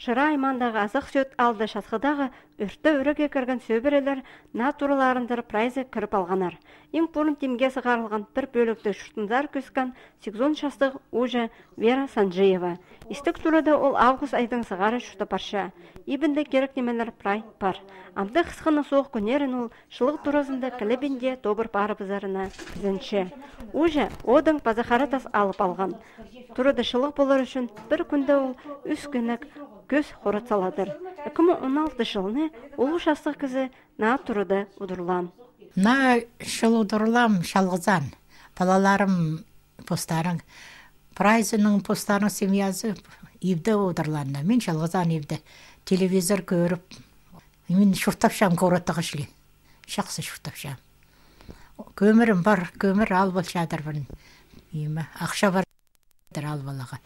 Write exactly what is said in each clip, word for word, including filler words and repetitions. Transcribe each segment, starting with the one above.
Шира аймаандағы Азах Сӧӧт аалда часхыдағы ӧртте ӱрее кірген сӧбірелер наа тураларынзар прайзы кіріп алғаннар. Иң пурун тимге сығарылған пір пӧлікті чуртынзар кӧскен сигізон частығ ууҷа Вера Санджиева. Истіг турада ол август айдаң сығара чуртап парча. Ибінде кирек нимелер прай пар. Амды хысхынаң соох кӱннерін ол чылығ туразында кілебінде тобыр парыбызарына кізенче. Ууҷа одың паза хара тас алып алған. Турада чылығ полар ӱчӱн пір кӱнде ол ӱс кӧнек кӧс хорат саладыр. Ікі муң он алты чылны улуғ частығ кізі наа турада удурлаан. Наа чыл удурлаам чалғызаан. Палаларым постарың, прайзының постарың семьязы ибде удурлааннар. Мин чалғызаан ибде. Телевизор кӧріп, мин чуртапчам городтағы чіли. Чахсы чуртапчам. Кӧмірім пар, кӧмір алып алчадырбын. Ниме, ахча пар алып аларға.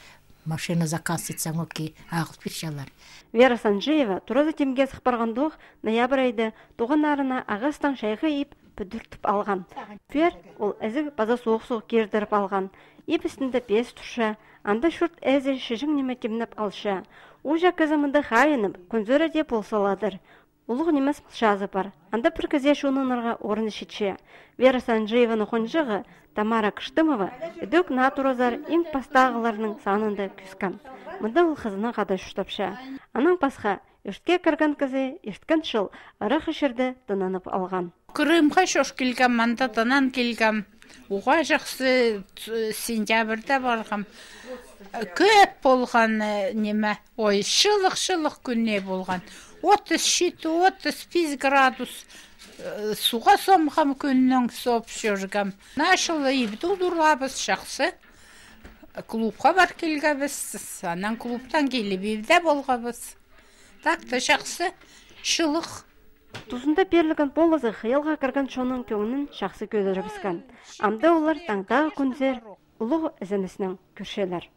Машина заказ итсең, окей, ағыл пирчелер. Вера Санджиева туразы тимге сых парғандох, ноябрь айда туғаннарына ағастаң чайғы иб пӱдіртіп алған. Пӱер ол ізіг паза соох-соох кирдіріп алған. Иб істінде пес турча, анда чурт ээзі чіҷең ниме тимнеп алча. Ууҷа кізі мында хайынып, кӱнзер дее пол саладыр. Улуғ нимес мылчазы пар. Анда пір кізее чоныынарға орын читче. Вера Санджиеваны хонҷығы Тамара Кыштымова ідӧк наа туразар иң пастағыларның санында кӧскен. Мында ол хызынаң хада чуртапча. Анаң пасха, ӧртке кірген кізі ирткен чыл ырах чирде тынанып алған. Крымға чӧр килгем, анда тынан килгем. Уғаа чахсы, сентябрьда парғам. Кӧп полған, э, ниме, ой, чылығ, чылығ кӱннер полған. Отыс читі, отыс пис градус, э, суға сомғам, кӱннең соп чӧргем. Наа чылны ибде удурлаабыс, чахсы. Клубха пар килгебіс, анаң клубтаң киліп ибде полғабыс. Так та чахсы, чылығ. Тузында пирілген полызы хыялға кірген чонның кӧңнін чахсы кӧдірібіскен. Амды олар таңдағы кӱнзер улуғ ізеніснең кӧрчелер.